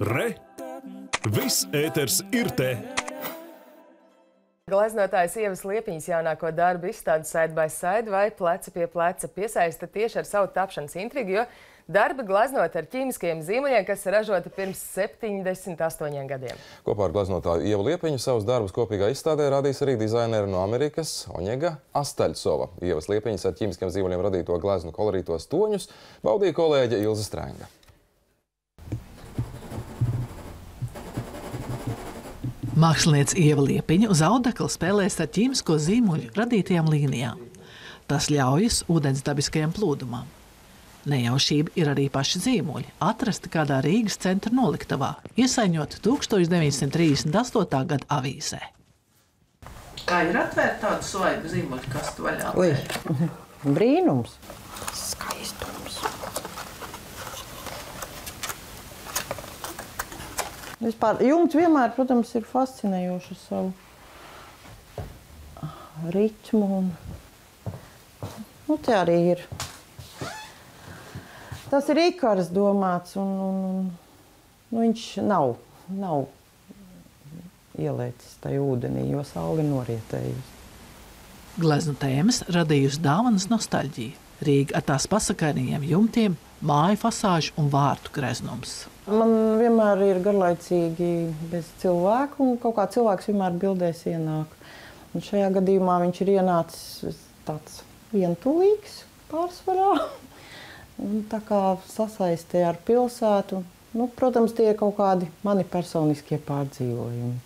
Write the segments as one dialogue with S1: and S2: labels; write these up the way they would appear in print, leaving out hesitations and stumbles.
S1: Re! Viss ēters ir te!
S2: Gleznotājs Ievas Liepiņas jaunāko darbu izstāde Side by Side vai Pleca pie pleca piesaista tieši ar savu tapšanas intrigu, jo darbi gleznot ar ķīmiskajiem zīmuļiem, kas ražoti pirms 78 gadiem.
S3: Kopā ar gleznotāju Ievu Liepiņu savus darbus kopīgā izstādē radīs arī dizaineri no Amerikas Oņega Astaļcova. Ievas Liepiņas ar ķīmiskiem zīmuļiem radīto gleznu kolorītos toņus baudīja kolēģe Ilze Strenga.
S4: Māksliniece Ieva Liepiņa uz audekla spēlēs ar ķīmisko zīmuļu radītajām līnijām. Tas ļaujas ūdens dabiskajam plūdumam. Nejaušība ir arī paši zīmuļi, atrasti kādā Rīgas centra noliktavā, iesaiņot 1938. gada avīzē. Kā ir atvērt tādu svaigu zīmuļu kastu vaļā?
S5: Brīnums! Skaistums! Vispār, jumts vienmēr, protams, ir fascinējoši ar savu ritmu. Un te arī ir. Tas ir ikaras domāts, un viņš nav ielēcis tajā ūdenī, jo saule ir norietējusi.
S4: Gleznu tēmas radījusi dāvanas nostalģija. Rīga ar tās pasakainajiem jumtiem, māju fasāžu un vārtu greznums.
S5: Man vienmēr ir garlaicīgi bez cilvēku, un kaut kā cilvēks vienmēr bildēs ienāk. Un šajā gadījumā viņš ir ienācis tāds vientulīgs pārsvarā. Un tā kā sasaistē ar pilsētu, protams, tie ir kaut kādi mani personiskie pārdzīvojumi.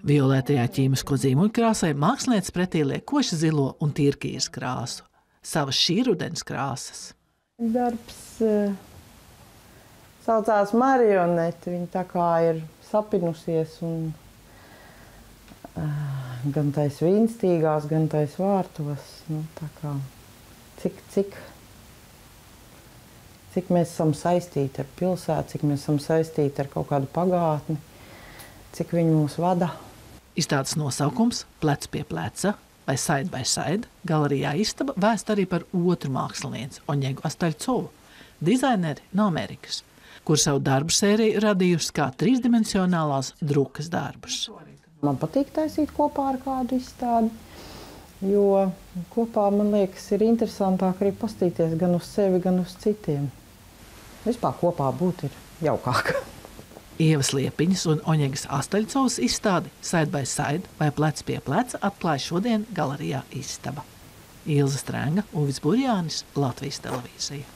S4: Violetējā ķīmisko zīmuļu krāsai māksliniece pretī liek koši zilo un tirkīzes krāsu. Savas šī rudens krāsas.
S5: Darbs saucās Marionete. Viņa tā kā ir sapinusies un gan tais vīnstīgās, gan tais vārtos. Tā kā cik mēs esam saistīti ar pilsētu, cik mēs esam saistīti ar kaut kādu pagātni, cik viņi mūs vada.
S4: Izstādes nosaukums Plec pie pleca vai Side by Side galerijā Istaba vēst arī par otru mākslinieci Oņegu Astaļcovu, dizaineri no Amerikas, kur savu darbu sēriju radījusi kā trīsdimensionālās drukas darbus.
S5: Man patīk taisīt kopā ar kādu izstādi, jo kopā, man liekas, ir interesantāk arī pastīties gan uz sevi, gan uz citiem. Vispār kopā būt ir jaukāk.
S4: Ievas Liepiņas un Oņegas Astaļcovas izstādi Side by Side vai Plec pie pleca atklāja šodien galerijā Istaba. Ilze Strenga, Uvis Burjānis, Latvijas televīzija.